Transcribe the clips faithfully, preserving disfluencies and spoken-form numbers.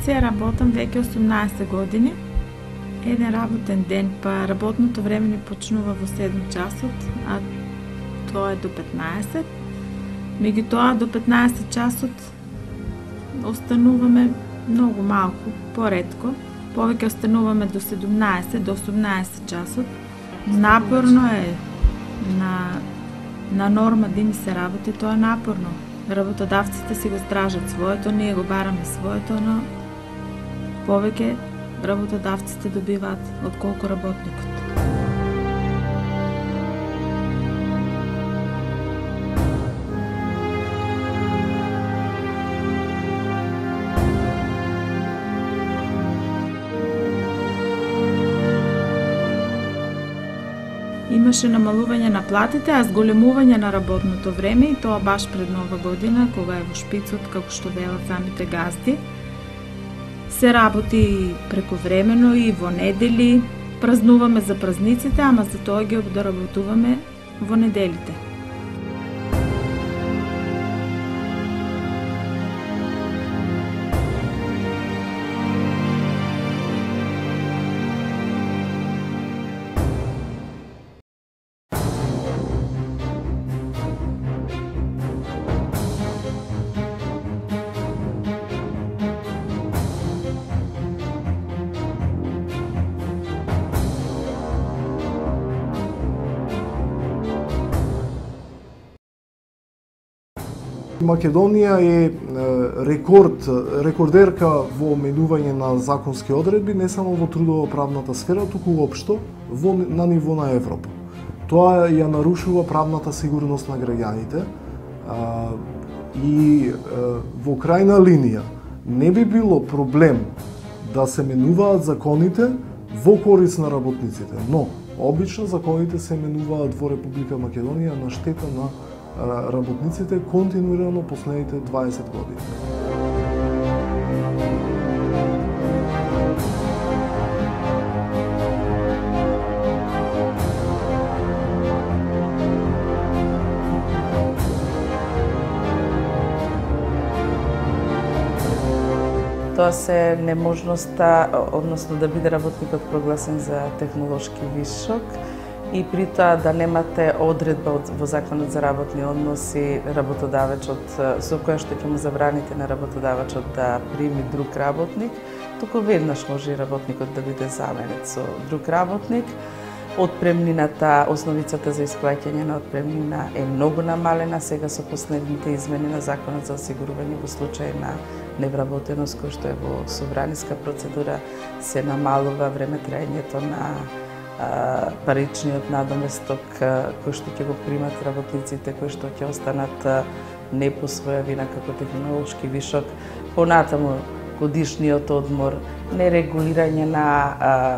позиција работам веќе осумнаесет години. Еден работен ден, па работното време ни почнува во седум часот, а тоа е до петнаесет. Меѓутоа до петнаесет часот остануваме многу малку, поретко. Повеќе остануваме до седумнаесет, до осумнаесет часот. Напорно е на на норма дени се работи, тоа е напорно. Работодавците си го стражат своето, ние го бараме своето, но повеќе работодавците добиваат отколку работникот. Имаше намалување на платите, а зголемување на работното време, и тоа баш пред Нова година, кога е во шпицот, како што велат самите газди. Се работи прековремено и во недели, празнуваме за празниците, ама за тоа ги доработуваме во неделите. Македонија е рекорд, рекордерка во менување на законски одредби, не само во трудово-правната сфера, туку општо во, на ниво на Европа. Тоа ја нарушува правната сигурност на граѓаните а, и а, во крајна линија не би било проблем да се менуваат законите во корист на работниците, но обично законите се менуваат во Република Македонија на штета на работниците континуирано последните дваесет години. Тоа се неможноста, односно да биде работникот прогласен за технолошки вишок, и при тоа да немате одредба во Законот за работни односи работодавачот со која што ќе му забраните на работодавачот да прими друг работник, туку веднаш може и работникот да биде заменет со друг работник. Отпремнината, основицата за исплаќање на отпремнина е многу намалена сега со последните измени на Законот за осигурување во случај на невработеност, кој што е во собраниска процедура, се намалува време траењето на паричниот надоместок кој што ќе го примат работниците кои што ќе останат не по своја вина како технолошки вишок. Понатаму годишниот одмор, нерегулирање на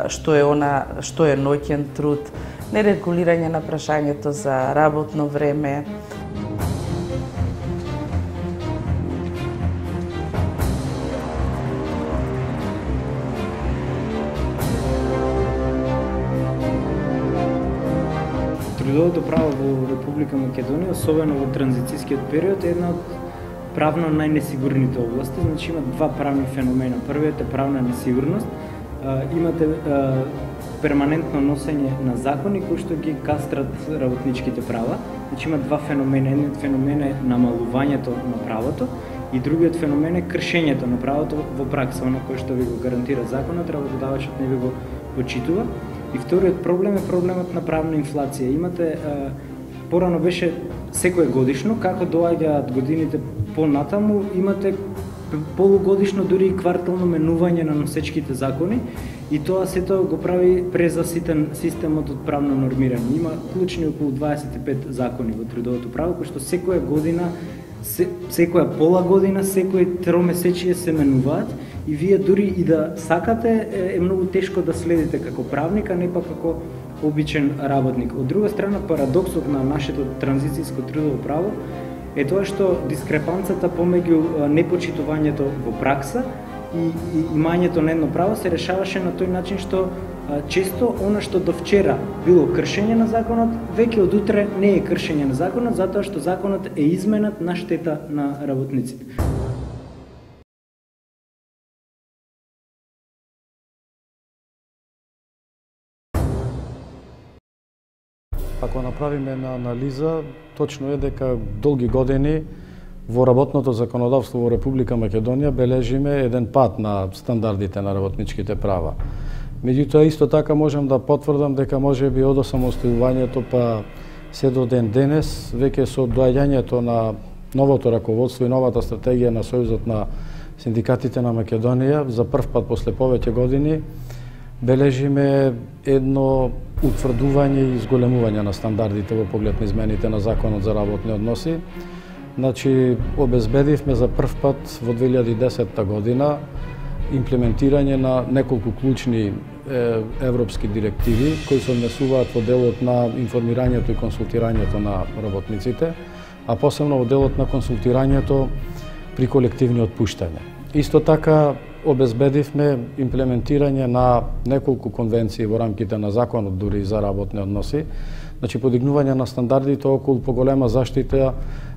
што е она, што е ноќен труд, нерегулирање на прашањето за работно време. Трудовото право во Република Македонија, особено во транзицијскиот период, е една од правно најнесигурните области. Значи има два правни феномена. Првиот е правна несигурност. Имате перманентно носење на закони кои што ги кастрат работничките права. Значи има два феномена. Едниот феномен е намалувањето на правото и другиот феномен е кршењето на правото во пракса, оно кој што ви го гарантира законот, работодавачот не ви го почитува. И вториот проблем е проблемот на правна инфлација. Имате, порано беше секој годишно, како доаѓаат годините понатаму, имате полугодишно, дури и квартално менување на носечките закони, и тоа сето го прави презаситен системот од правно нормирање. Има клучни околу дваесет и пет закони во трудовото право, кои што секоја година, секоја пола година, секој тромесечие се менуваат, и вие дури и да сакате е многу тешко да следите како правник, а не па како обичен работник. Од друга страна, парадоксот на нашето транзицијско трудово право е тоа што дискрепанцата помеѓу непочитувањето во пракса и имањето на едно право се решаваше на тој начин што често она што до вчера било кршење на законот, веќе од утре не е кршење на законот, затоа што законот е изменет на штета на работниците. Ако направиме една анализа, точно е дека долги години во работното законодавство во Република Македонија бележиме еден пат на стандардите на работничките права. Меѓутоа, исто така можам да потврдам дека може би од осамостојувањето па се до ден денес, веќе со доаѓањето на новото раководство и новата стратегија на Сојузот на синдикатите на Македонија, за прв пат после повеќе години, бележиме едно утврдување и изголемување на стандардите во поглед на измените на Законот за работни односи. Значи, обезбедивме за прв пат во две илјади и десетта година имплементирање на неколку клучни е, европски директиви кои се однесуваат во делот на информирањето и консултирањето на работниците, а посебно во делот на консултирањето при колективни отпуштања. Исто така обезбедивме имплементирање на неколку конвенции во рамките на Законот дури за работни односи, значи подигнување на стандардите околу поголема заштита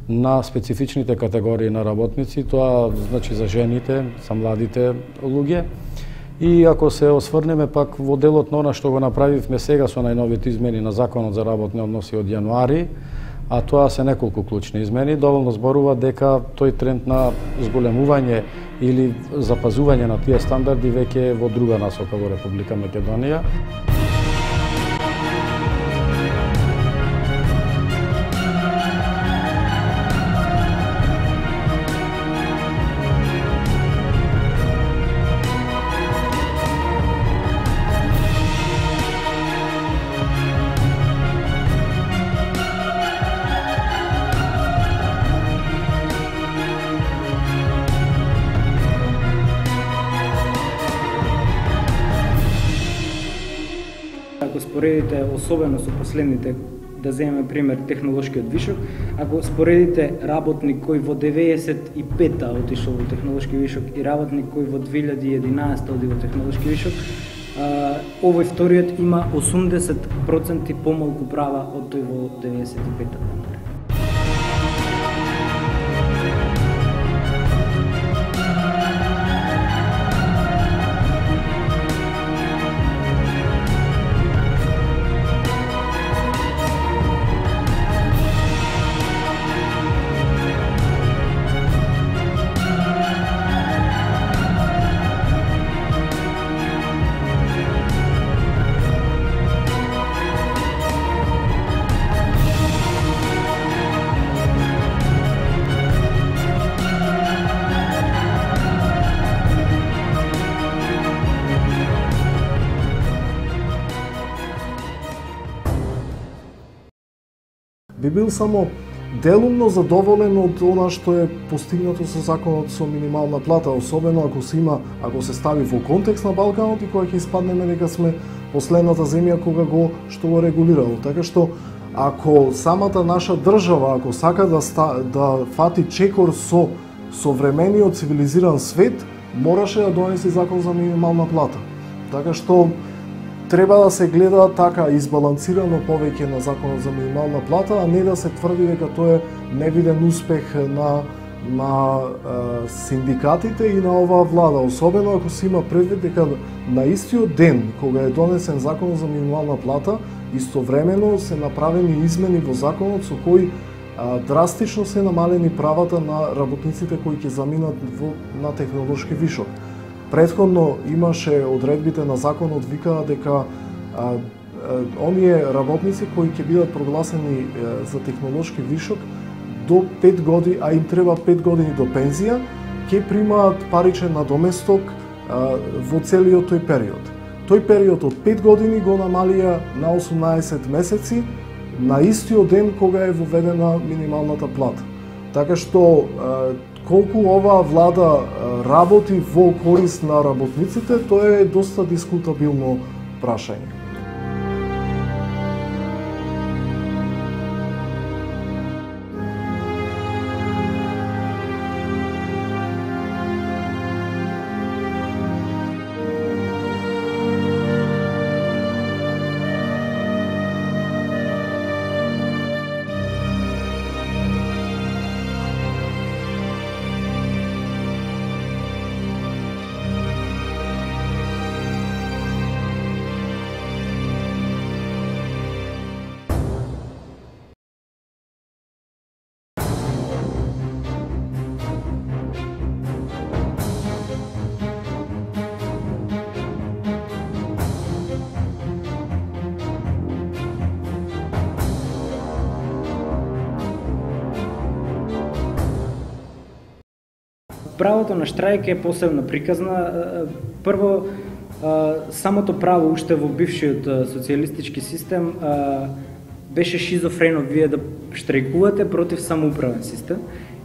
на специфичните категории на работници, тоа значи за жените, за младите луѓе. И ако се осврнеме пак во делот на она што го направивме сега со најновите измени на Законот за работни односи од јануари, а тоа се неколку клучни измени, доволно зборува дека тој тренд на зголемување или запазување на тие стандарди веќе е во друга насока во Република Македонија. Ако споредите, особено со последните, да земеме пример технолошкиот вишок, ако споредите работник кој во деветдесет и петта отишол во технолошки вишок и работник кој во две илјади и единаесетта оди во технолошки вишок, овој вториот има осумдесет проценти помалку права од тој во деветдесет и петта. Би бил само делумно задоволен од она што е постигнато со законот со минимална плата, особено ако се има, ако се стави во контекст на Балканот и кога ќе испаднеме дека сме последната земја кога го што го регулирало. Така што ако самата наша држава, ако сака да ста, да фати чекор со современиот цивилизиран свет, мораше да донесе закон за минимална плата. Така што треба да се гледа така избалансирано повеќе на законот за минимална плата, а не да се тврди дека тоа е невиден успех на на е, синдикатите и на оваа влада, особено ако се има предвид дека на истиот ден кога е донесен законот за минимална плата, истовремено се направени измени во законот со кои а, драстично се намалени правата на работниците кои ќе заминат во, на технолошки вишок. Предходно имаше одредбите на законот викаа дека а, а, оние работници кои ќе бидат прогласени а, за технолошки вишок до пет години, а им треба пет години до пензија, ќе примаат паричен надоместок а, во целиот тој период. Тој период од пет години го намалија на осумнаесет месеци, на истиот ден кога е воведена минималната плата. Така што колку оваа влада работи во корист на работниците, тоа е доста дискутабилно прашање. правото на штрајк е посебно приказна. Прво, самото право уште во бившиот социјалистички систем беше шизофрено вие да штрајкувате против самоуправен систем.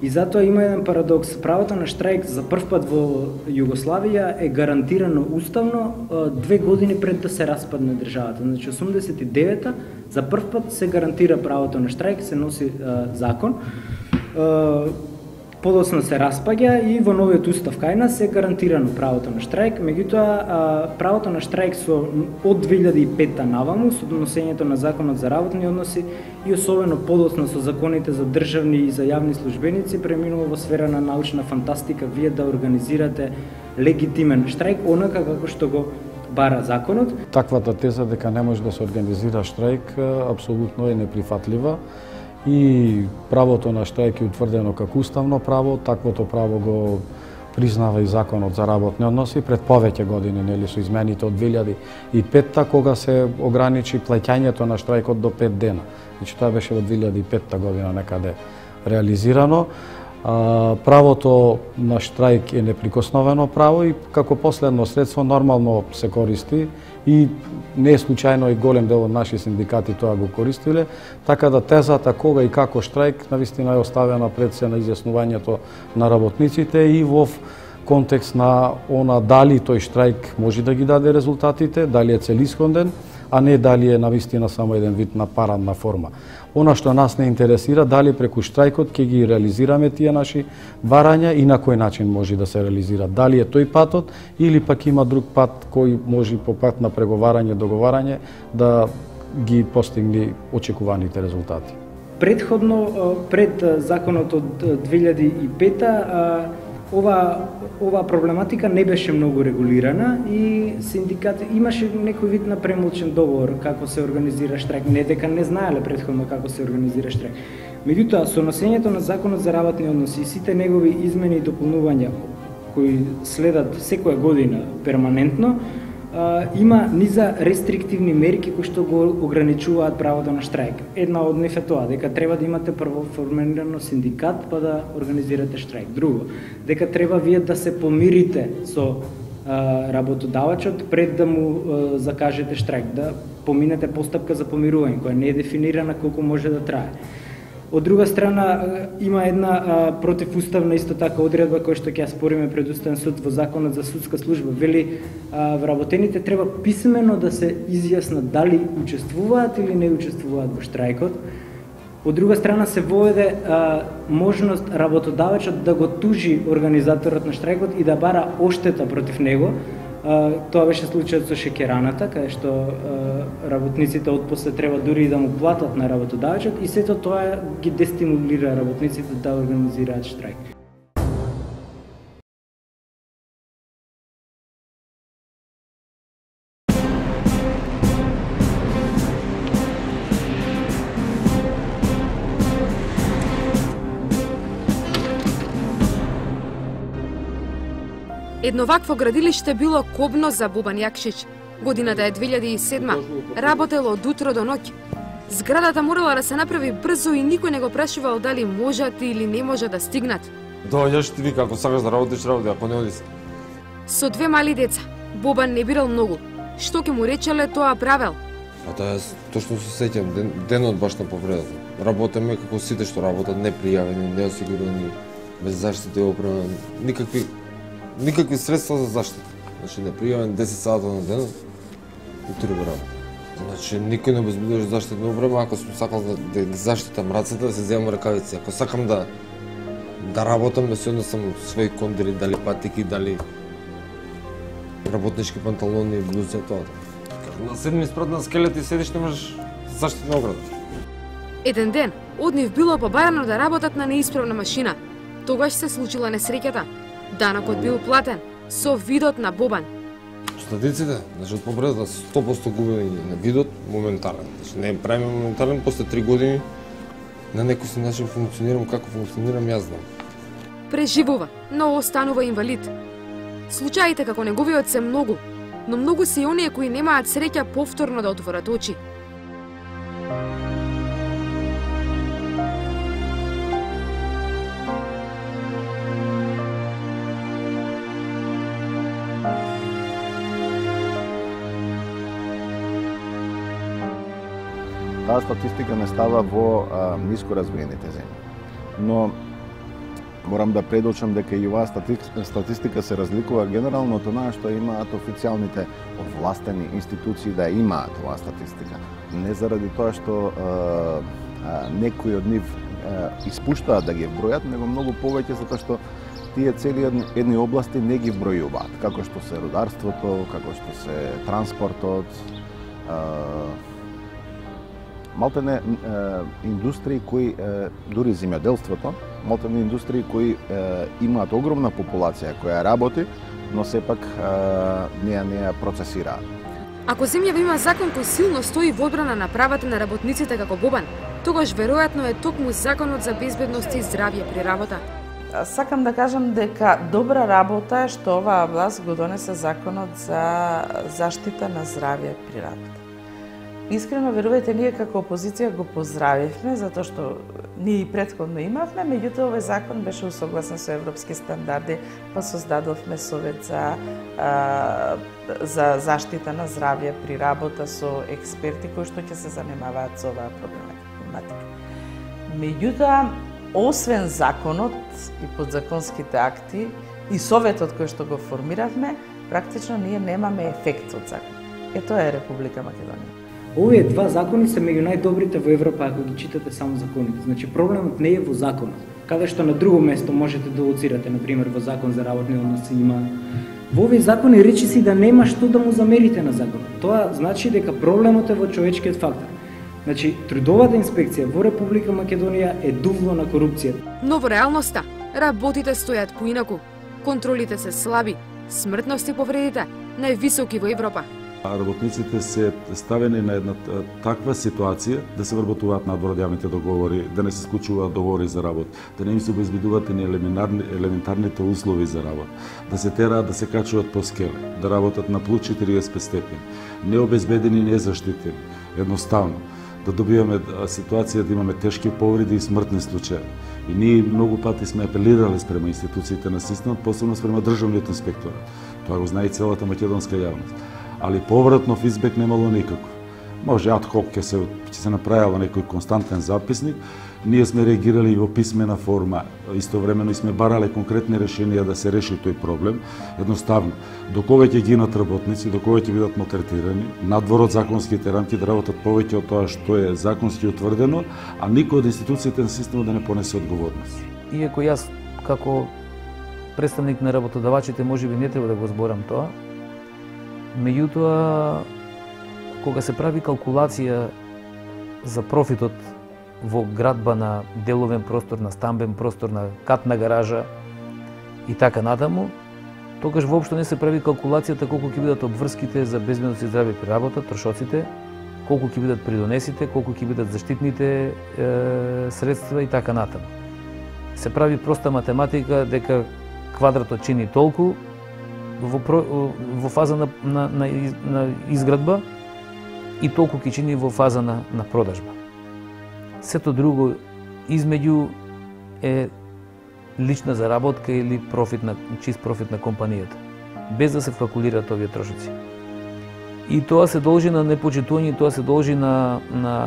И затоа има еден парадокс. Правото на штрајк за прв пат во Југославија е гарантирано уставно две години пред да се распадне државата. Значи осумдесет и девета за прв пат се гарантира правото на штрајк, се носи а, закон. А, подоцна се распаѓа и во новиот устав кај нас е гарантирано правото на штрајк. Меѓутоа, правото на штрајк со од две илјади и пета наваму со донесењето на законот за работни односи и особено подоцна со законите за државни и за јавни службеници преминува во сфера на научна фантастика вие да организирате легитимен штрајк онака како што го бара законот. Таквата теза дека не може да се организира штрајк апсолутно е неприфатлива. И правото на штрајк е утврдено како уставно право, таквото право го признава и законот за работни односи пред повеќе години, нели со измените од две илјади и пета кога се ограничи плаќањето на штрајкот до пет дена. Значи тоа беше во две илјади и пета година некаде реализирано. А, правото на штрајк е неприкосновено право и како последно средство нормално се користи и не е случајно и голем дел од наши синдикати тоа го користиле, така да тезата кога и како штрајк навистина е оставена пред се на изјаснувањето на работниците и во контекст на она дали тој штрајк може да ги даде резултатите, дали е целисходен, а не дали е навистина само еден вид на парадна форма. Она што нас не интересира, дали преку штрајкот ќе ги реализираме тие наши барања и на кој начин може да се реализира. Дали е тој патот или пак има друг пат кој може по пат на преговарање, договарање да ги постигне очекуваните резултати. Предходно, пред законот од две илјади и пета, ова ова проблематика не беше многу регулирана и синдикат имаше некој вид на премолчен договор како се организира штрајк, не дека не знаеле претходно како се организира штрајк. Меѓутоа, со носењето на законот за работни односи и сите негови измени и дополнувања кои следат секоја година перманентно, има низа рестриктивни мерки кои што го ограничуваат правото на штрајк. Една од нив е тоа, дека треба да имате прво формирано синдикат па да организирате штрајк. Друго, дека треба вие да се помирите со а, работодавачот пред да му а, закажете штрајк, да поминете постапка за помирување, која не е дефинирана колку може да трае. Од друга страна, има една а, противуставна исто така одредба која што ќе ја спориме пред Уставен суд во законот за судска служба. Вели, а, вработените треба писмено да се изјаснат дали учествуваат или не учествуваат во штрајкот. Од друга страна се воведе а, можност работодавачот да го тужи организаторот на штрајкот и да бара оштета против него. Uh, тоа беше случајот со шеќераната, каде што uh, работниците отпосле треба дури и да му платат на работодавачот и сето тоа ги дестимулира работниците да организираат штрајк. Едно вакво градилиште било кобно за Бобан Јакшич. Годината е две илјади и седма. Работело од утро до ноќ. Зградата морала да се направи брзо и никој не го прашувал дали можат или не можат да стигнат. Доаѓаш ти вика, ако сакаш да работиш, работи, ако не оди се. Со две мали деца, Бобан не бирал многу. Што ќе му речеле, тоа правел. А тоа јас точно се сеќам, ден, денот баш на повредата. Работеме како сите што работат, непријавени, неосигурени, без заштита и опрема, никакви никакви средства за заштита. Значи непријавен десет сата на ден, утре го работи. Значи никој не обезбедуваше заштитна опрема, ако сум сакал да, да ги заштитам рацете, да се земам ракавици. Ако сакам да да работам, да си однесам своји кондери, дали патики, дали работнички панталони, блузи, тоа. На седми спрат на скелет и седиш, немаш заштитна ограда. Еден ден, од нив било побарано да работат на неисправна машина. Тогаш се случила несреќата. Данокот бил платен со видот на Бобан. Остатиците, значи од повредата сто проценти губени на видот моментален. Значи не правиме моментален, после три години на некој си начин функционирам како функционирам јас знам. Преживува, но останува инвалид. Случаите како неговиот се многу, но многу се и оние кои немаат среќа повторно да отворат очи. Таа статистика не става во а, ниско развиените земји. Но морам да предочам дека и оваа статистика се разликува генерално од она што имаат официјалните овластени институции да имаат оваа статистика. Не заради тоа што а, а, некои од нив а, испуштаат да ги бројат, него многу повеќе затоа што тие цели едни области не ги вбројуваат, како што се рударството, како што се транспортот, малтене индустрии кои, дури земјоделството, малтене индустрии кои имаат огромна популација која работи, но сепак не ја не ја процесираат. Ако земјава има закон кој силно стои во одбрана на правата на работниците како Бобан, тогаш веројатно е токму законот за безбедност и здравје при работа. Сакам да кажам дека добра работа е што оваа власт го донесе законот за заштита на здравје при работа. Искрено верувајте, ние како опозиција го поздравивме затоа што ние и претходно имавме, меѓутоа овој закон беше усогласен со европски стандарди, па создадовме совет за а, за заштита на здравје при работа со експерти кои што ќе се занимаваат со оваа проблематика. Меѓутоа, освен законот и подзаконските акти и советот кој што го формиравме, практично ние немаме ефект од закон. Е тоа е Република Македонија. Овие два закони се меѓу најдобрите во Европа ако ги читате само законите. Значи проблемот не е во законот. Каде што на друго место можете да лоцирате, на пример во закон за работни односи има. Во овие закони речи си да нема што да му замерите на законот. Тоа значи дека проблемот е во човечкиот фактор. Значи, трудовата инспекција во Република Македонија е дувло на корупцијата. Но во реалноста, работите стојат поинаку. Контролите се слаби, смртност и повредите највисоки во Европа. Работниците се ставени на една таква ситуација да се вработуваат надвор од јавните договори, да не се склучуваат договори за работа, да не им се обезбедуваат ни елементарните услови за работа, да се тераат да се качуваат по скеле, да работат на плюс четириесет пет степени, необезбедени, незаштитени, едноставно да добиваме ситуација да имаме тешки повреди и смртни случаи. И ние многу пати сме апелирале спрема институциите на системот, посебно спрема државниот инспекторат. Тоа го знае и целата македонска јавност. Али повратно фидбек немало никако. Може ад хок ќе се ќе се направило некој константен записник, ние сме реагирали и во писмена форма, истовремено и сме барале конкретни решенија да се реши тој проблем. Едноставно, докога ќе гинат работници, докога ќе бидат малтретирани, надвор од законските рамки да работат повеќе од тоа што е законски утврдено, а никој од институциите на системот да не понесе одговорност. Иако јас како представник на работодавачите можеби не треба да го зборам тоа, меѓутоа, кога се прави калкулација за профитот во градба на деловен простор, на стамбен простор, на катна гаража и така натаму, тогаш воопшто не се прави калкулацијата колку ќе бидат обврските за безбедност и здравје при работа, трошоците, колку ќе бидат придонесите, колку ќе бидат заштитните е, средства и така натаму. Се прави проста математика дека квадратот чини толку, Во, во фаза на, на, на, на изградба и толку ќе чини во фаза на, на продажба. Сето друго измеѓу е лична заработка или профит на, чист профит на компанијата, без да се калкулираат овие трошоци. И тоа се должи на непочитување, тоа се должи на, на,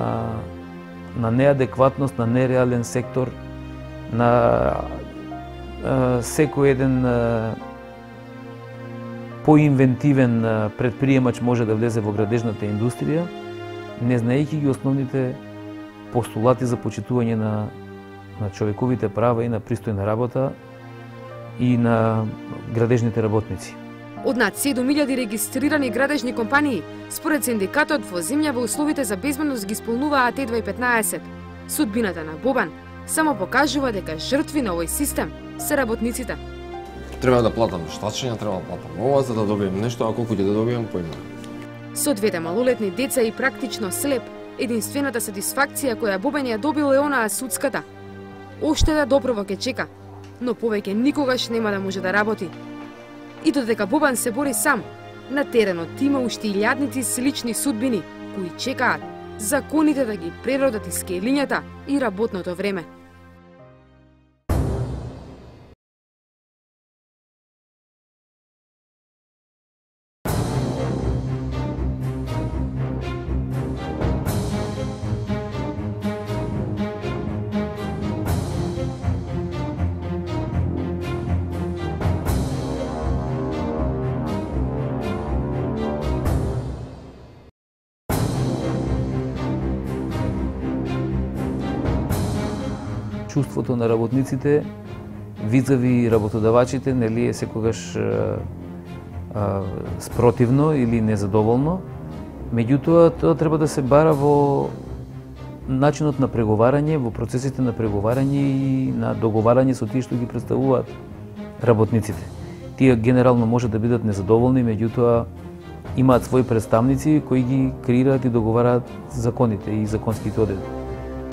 на неадекватност, на нереален сектор, на а, секој еден а, поинвентивен предприемач може да влезе во градежната индустрија, не знаејќи ги основните постулати за почитување на, на човековите права и на пристојна работа и на градежните работници. Од над седум илјади регистрирани градежни компании, според синдикатот во земјава условите за безбедност ги исполнуваат едва и петнаесет. Судбината на Бобан само покажува дека жртви на овој систем се работниците. Треба да платам штачења, треба да платам ова за да добием нешто, а колку ќе да добием поима. Со двете малолетни деца и практично слеп, единствената сатисфакција која Бобан ја добил е онаа судската. Оштеда доброво ќе чека, но повеќе никогаш нема да може да работи. И додека Бобан се бори сам, на теренот има уште илјадници слични судбини кои чекаат законите да ги преродат из скелињата и работното време. чувството на работниците визави работодавачите, нели е секогаш а, а, спротивно или незадоволно. Меѓутоа, тоа треба да се бара во начинот на преговарање, во процесите на преговарање и на договарање со тие што ги представуваат работниците. Тие генерално може да бидат незадоволни, меѓутоа имаат своји представници кои ги креираат и договараат законите и законските одредби.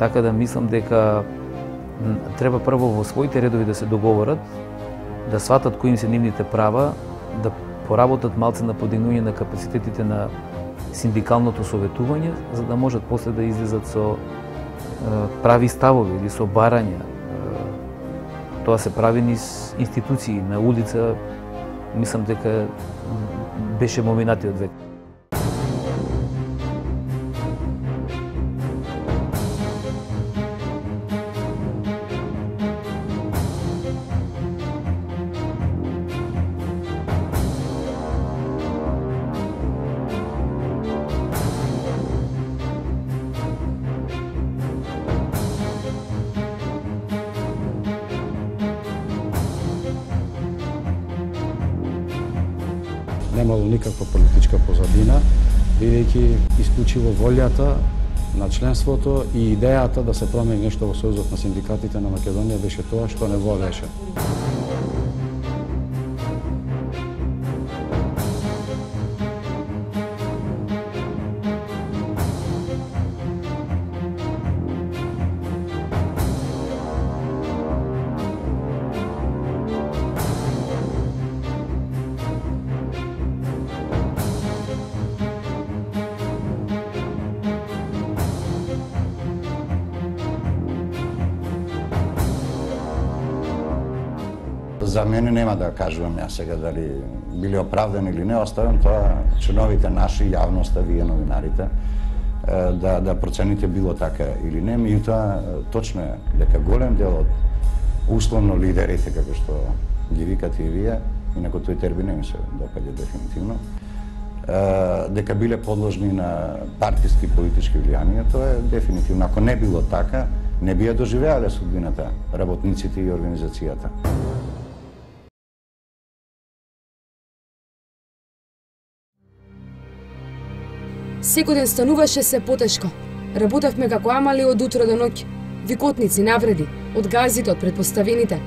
Така да мислам дека треба прво во своите редови да се договорат, да сватат кои им се нивните права, да поработат малце на подигнување на капацитетите на синдикалното советување, за да можат после да излезат со е, прави ставови или со барања. Е, тоа се прави низ институции на улица, мислам дека беше моминатиот век. Немало никаква политичка позадина, бидејќи исклучиво волјата на членството и идејата да се промени нешто во Сојузот на синдикатите на Македонија беше тоа што не волеше. За мене нема да кажувам ја сега дали били оправдани или не, оставам тоа членовите наши, јавноста, вие новинарите, да, да процените било така или не. Меѓутоа, точно е дека голем дел од условно лидерите, како што ги викате и вие, инаку тој термин не ми се допаѓа дефинитивно, дека биле подложни на партиски и политички влијанија, тоа е дефинитивно. Ако не било така, не би ја доживеале судбината работниците и организацијата. Секој ден стануваше се потешко. Работевме како амали од утро до ноќ. Викотници, навреди, од газите, од предпоставените.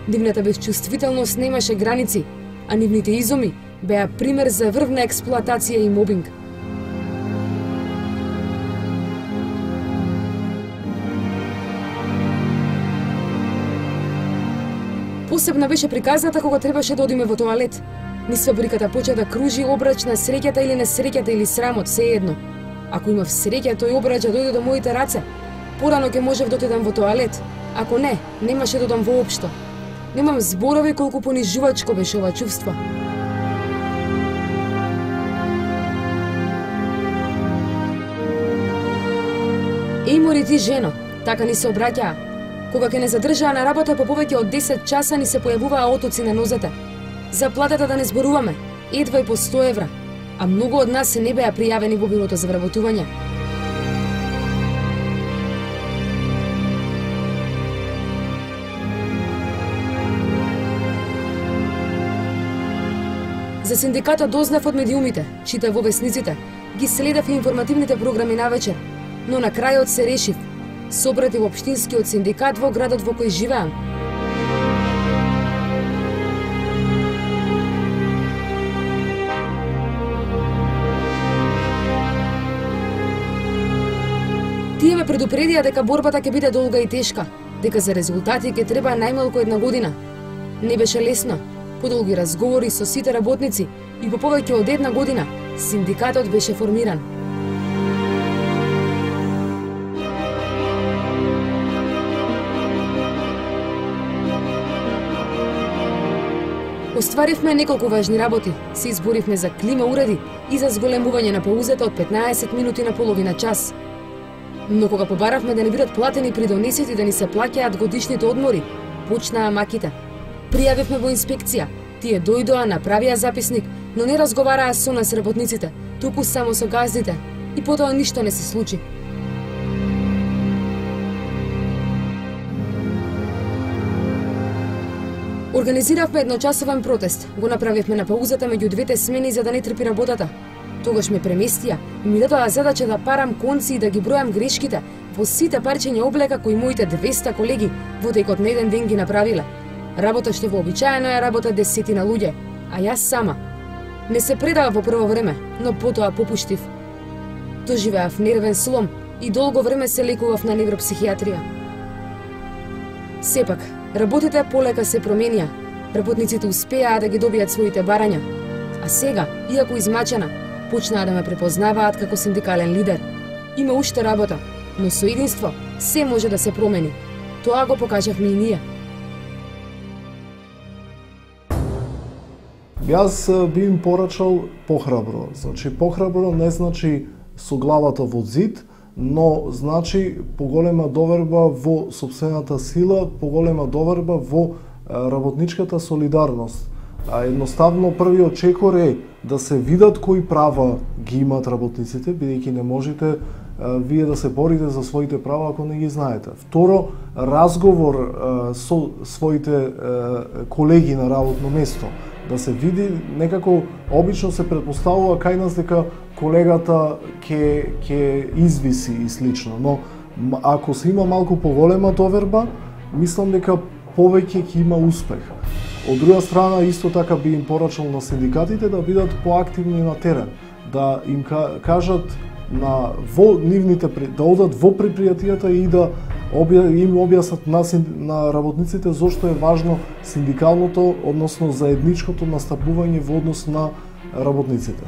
Нивната безчувствителност немаше граници, а нивните изуми беа пример за врвна експлоатација и мобинг. Посебна беше приказната кога требаше да одиме во тоалет. Низ фабриката почна да кружи обрач на среќата или несреќата или срамот, се едно. Ако имав среќа, тој обрач да дојде до моите раце. Порано ќе можев да отидам во тоалет. Ако не, немаше да одам воопшто. Немам зборови колку понижувачко беше ова чувство. Еј, мори ти, жено, така ни се обраќаа. Кога ќе не задржаа на работа по повеќе од десет часа, ни се појавуваа отоци на нозете. За платата да не зборуваме, едва и по сто евра, а многу од нас се не беа пријавени во бирото за вработување. За синдикатот дознав од медиумите, читав во весниците, ги следев и информативните програми навечер, но на крајот се решив. Собрати во општинскиот синдикат во градот во кој живеам. Тие ме предупредија дека борбата ќе биде долга и тешка, дека за резултати ќе треба најмалку една година. Не беше лесно. Подолги разговори со сите работници и по повеќе од една година синдикатот беше формиран. Остваривме неколку важни работи, се изборивме за клима уреди и за зголемување на паузата од петнаесет минути на половина час. Но кога побаравме да не бидат платени при донесите да ни се плаќаат годишните одмори, почнаа маките. Пријавивме во инспекција. Тие дојдоа, направија записник, но не разговараа со нас работниците, туку само со газдите. И потоа ништо не се случи. Организиравме едночасовен протест. Го направивме на паузата меѓу двете смени за да не трпи работата. Тогаш ме преместија и ми дадоа задача да парам конци и да ги бројам грешките во сите парчења облека кои моите двеста колеги во текот на еден ден ги направиле. Работа што вообичаено е работа десетина луѓе, а јас сама. Не се предава во прво време, но потоа попуштив. Доживеав нервен слом и долго време се лекував на невропсихијатрија. Сепак, работите полека се променија. Работниците успеаа да ги добијат своите барања. А сега, иако измачена, почнаа да ме препознаваат како синдикален лидер. Има уште работа, но со единство се може да се промени. Тоа го покажавме и ние. Јас би им порачал похрабро. Значи, похрабро не значи со главата во зид, но значи поголема доверба во сопствената сила, поголема доверба во работничката солидарност. А едноставно првиот чекор е да се видат кои права ги имат работниците, бидејќи не можете а, вие да се борите за своите права ако не ги знаете. Второ, разговор а, со своите а, колеги на работно место, да се види некако обично се претпоставува кај нас дека колегата ќе ќе извиси и слично, но ако се има малку поголема доверба, мислам дека повеќе ќе има успех. Од друга страна, исто така би им порачал на синдикатите да бидат поактивни на терен, да им кажат на во нивните да одат во предпријатијата и да им објаснат на, на работниците зошто е важно синдикалното, односно заедничкото настапување во однос на работниците.